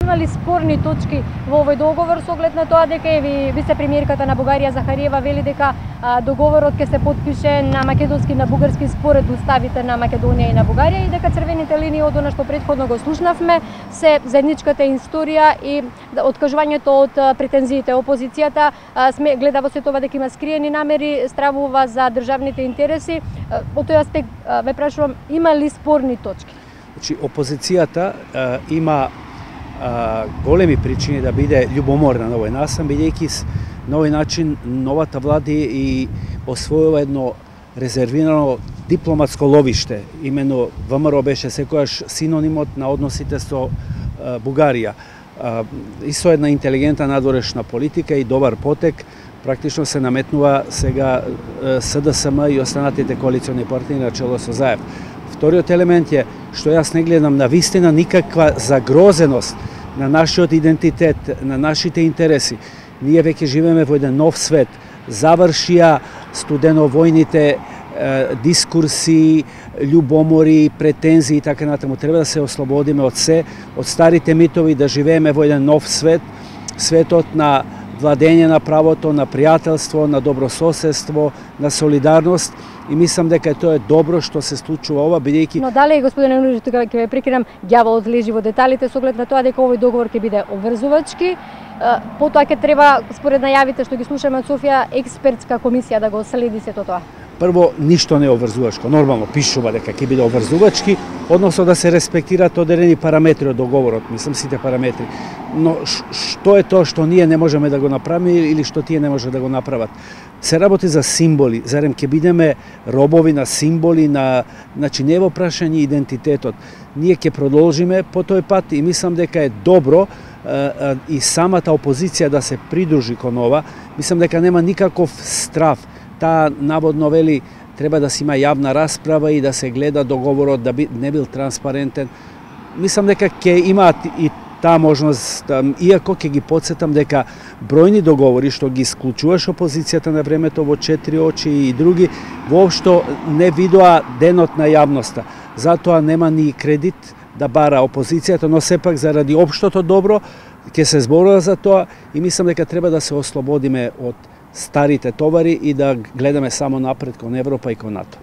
имали спорни точки во овој договор со оглед на тоа дека вице-премиерката на Бугарија Захариева вели дека договорот ќе се потпише на македонски и на бугарски според уставите на Македонија и на Бугарија и дека црвените линии од она што претходно го слушнавме се заедничката историја и откажувањето од претензиите. Опозицијата гледа во сето ова дека има скриени намери, стравува за државните интереси. Од тој аспект ве прашувам, има ли спорни точки? Значи, опозицијата има големи причини да биде љубоморна на овој насам, бидејќи на овој начин новата влада и освоила едно резервирано дипломатско ловиште. Имено ВМРО беше секојаш синонимот на односите со Бугарија. И со една интелигентна надворешна политика и добар потек, практично се наметнува сега СДСМ и останатите коалициони партнери на чело со Заев. Вториот елемент е што јас не гледам на вистина никаква загрозеност на нашиот идентитет, на нашите интереси. Ние веќе живееме во еден нов свет. Завршија студеновојните дискурси, љубомори, претензии и така натаму. Треба да се ослободиме од се, од старите митови, да живееме во еден нов свет, светот на владење на правото, на пријателство, на добрососедство, на солидарност. И мислам дека тоа е добро што се случува ова, бидејќи... Но дале, господине Нурџи, тука ќе ве прекинам, ѓаволот лежи во деталите со оглед на тоа дека овој договор ќе биде обврзувачки. Потоа ќе треба, според најавите што ги слушаме од Софија, експертска комисија да го следи сето тоа. Прво, ништо не е обврзувачко. Нормално пишува дека ќе биде обврзувачки, односно да се респектираат одредени параметри од договорот, мислам сите параметри. Но што е тоа што ние не можеме да го направиме или што тие не може да го направат? Се работи за символи, зарем ќе бидеме робови на символи, значи не во прашање идентитетот. Ние ќе продолжиме по тој пат и мислам дека е добро и самата опозиција да се придружи кон ова. Мислам дека нема никаков страф. Таа наводно вели треба да се има јавна расправа и да се гледа договорот да не бил транспарентен. Мислам дека ќе имаат и таа можност, иако ќе ги подсетам дека бројни договори што ги исклучуваш опозицијата на времето во 4 очи и други, воопшто не видоа денот на јавноста. Затоа нема ни кредит да бара опозицијата, но сепак заради општото добро ќе се зборува за тоа и мислам дека треба да се ослободиме од старите товари и да гледаме само напред кон Европа и кон НАТО.